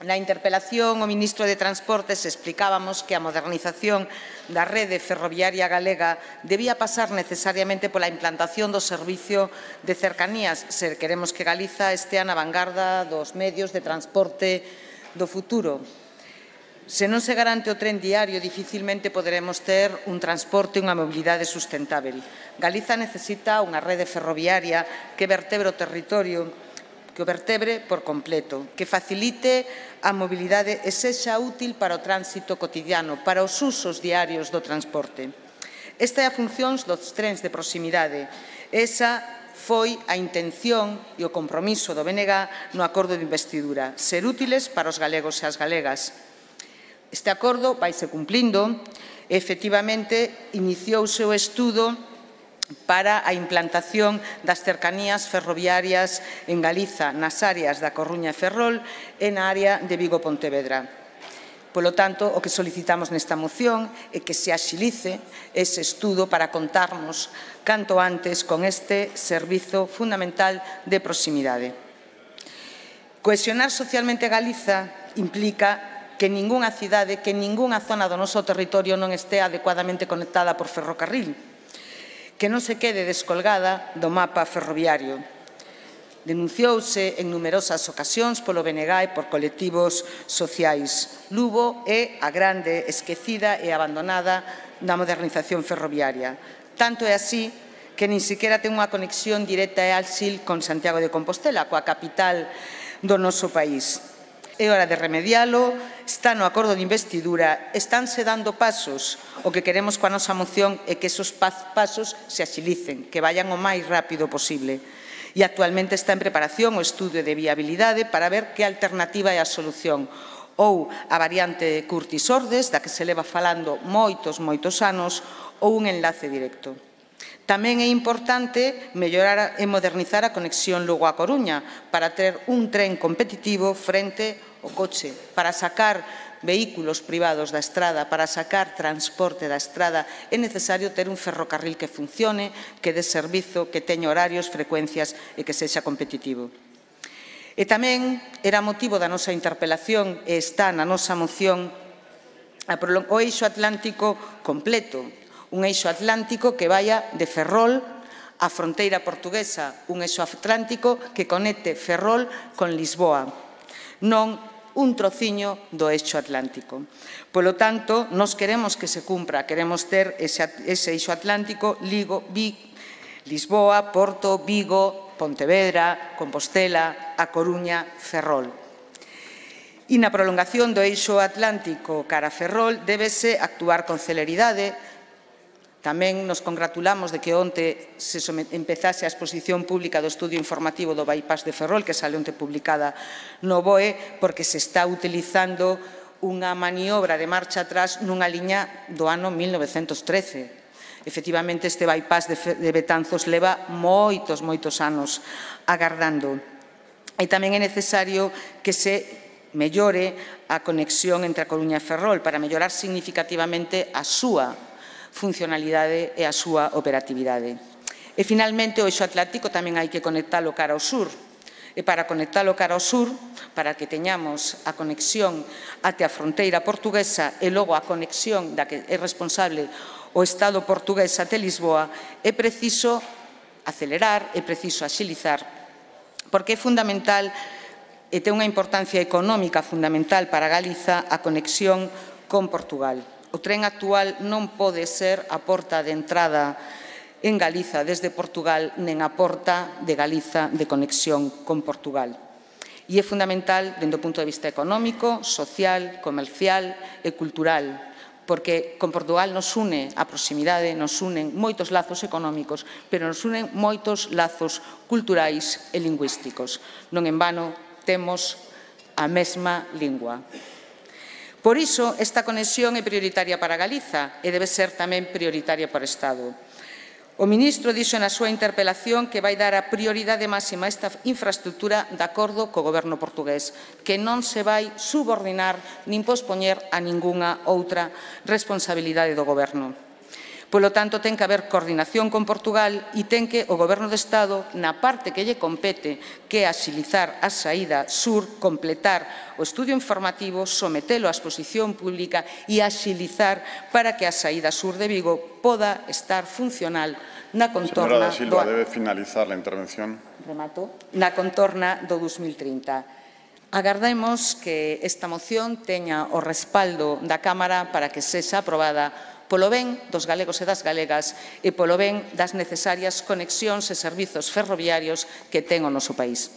Na interpelación ao ministro de Transportes explicábamos que a modernización da rede ferroviaria galega debía pasar necesariamente pola implantación do servicio de cercanías, se queremos que Galiza estea na vanguarda dos medios de transporte do futuro. Se non se garante o tren diario, dificilmente poderemos ter un transporte e unha mobilidade sustentável. Galiza necesita unha rede ferroviaria que vertebre o territorio, que o vertebre por completo, que facilite a mobilidade e sexa útil para o tránsito cotidiano, para os usos diarios do transporte. Esta é a función dos trens de proximidade. Esa foi a intención e o compromiso do BNG no acordo de investidura, ser útiles para os galegos e as galegas. Este acordo vaise cumplindo e, efectivamente, iniciouse o estudo para a implantación das cercanías ferroviarias en Galiza, nas áreas da Coruña e Ferrol e na área de Vigo-Pontevedra. Polo tanto, o que solicitamos nesta moción é que se axilice ese estudo para contarnos canto antes con este servizo fundamental de proximidade. Cohesionar socialmente Galiza implica que ningunha cidade, que ningunha zona do noso territorio non estea adecuadamente conectada por ferrocarril, que non se quede descolgada do mapa ferroviario. Denunciouse en numerosas ocasións polo BNG e por colectivos sociais. Lugo é a grande esquecida e abandonada da modernización ferroviaria. Tanto é así que nin sequera ten unha conexión directa e áxil con Santiago de Compostela, coa capital do noso país. É hora de remedialo, está no acordo de investidura, estánse dando pasos. O que queremos coa nosa moción é que esos pasos se axilicen, que vayan o máis rápido posible. E actualmente está en preparación o estudio de viabilidade para ver que alternativa é a solución. Ou a variante Curtis-Ordes, da que se leva falando moitos anos, ou un enlace directo. Tamén é importante mellorar e modernizar a conexión Lugo a Coruña para ter un tren competitivo frente ao coche, para sacar vehículos privados da estrada, para sacar transporte da estrada, é necesario ter un ferrocarril que funcione, que dé servizo, que teña horarios, frecuencias e que sexa competitivo. E tamén era motivo da nosa interpelación e está na nosa moción o eixo atlántico completo, un eixo atlántico que vaya de Ferrol á fronteira portuguesa, un eixo atlántico que conecte Ferrol con Lisboa, non un trociño do eixo atlántico. Polo tanto, nós queremos que se cumpra, queremos ter ese eixo atlántico Lisboa, Porto, Vigo, Pontevedra, Compostela, A Coruña, Ferrol. E na prolongación do eixo atlántico cara a Ferrol débese actuar con celeridade. Tamén nos congratulamos de que onte se empezase a exposición pública do estudio informativo do bypass de Ferrol, que sale onte publicada no BOE, porque se está utilizando unha maniobra de marcha atrás nunha liña do ano 1913. Efectivamente, este bypass de Betanzos leva moitos anos agardando. E tamén é necesario que se mellore a conexión entre a Coruña e Ferrol para mellorar significativamente a súa funcionalidade e a súa operatividade. E, finalmente, o eixo atlántico tamén hai que conectalo cara ao sur. E para conectalo cara ao sur, para que teñamos a conexión até a fronteira portuguesa e logo a conexión da que é responsable o Estado portugués até Lisboa, é preciso acelerar, é preciso axilizar, porque é fundamental e ten unha importancia económica fundamental para Galiza a conexión con Portugal. O tren actual non pode ser a porta de entrada en Galiza desde Portugal, nen a porta de Galiza de conexión con Portugal. E é fundamental dende o punto de vista económico, social, comercial e cultural, porque con Portugal nos une a proximidade, nos unen moitos lazos económicos, pero nos unen moitos lazos culturais e lingüísticos. Non en vano temos a mesma lingua. Por iso, esta conexión é prioritaria para Galiza e debe ser tamén prioritaria para o Estado. O ministro dixo na súa interpelación que vai dar a prioridade máxima a esta infraestructura de acordo co goberno portugués, que non se vai subordinar nin pospoñer a ningunha outra responsabilidade do goberno. Polo tanto, ten que haber coordinación con Portugal e ten que o Goberno de Estado, na parte que lle compete, que é axilizar a saída sur, completar o estudio informativo, sometelo á exposición pública e axilizar para que a saída sur de Vigo poda estar funcional na contorna Señora da Silva, debe finalizar la intervención. Remato. Na contorna do 2030. Agardemos que esta moción teña o respaldo da Cámara para que sexa aprobada polo ben dos galegos e das galegas e polo ben das necesarias conexións e servizos ferroviarios que ten o noso país.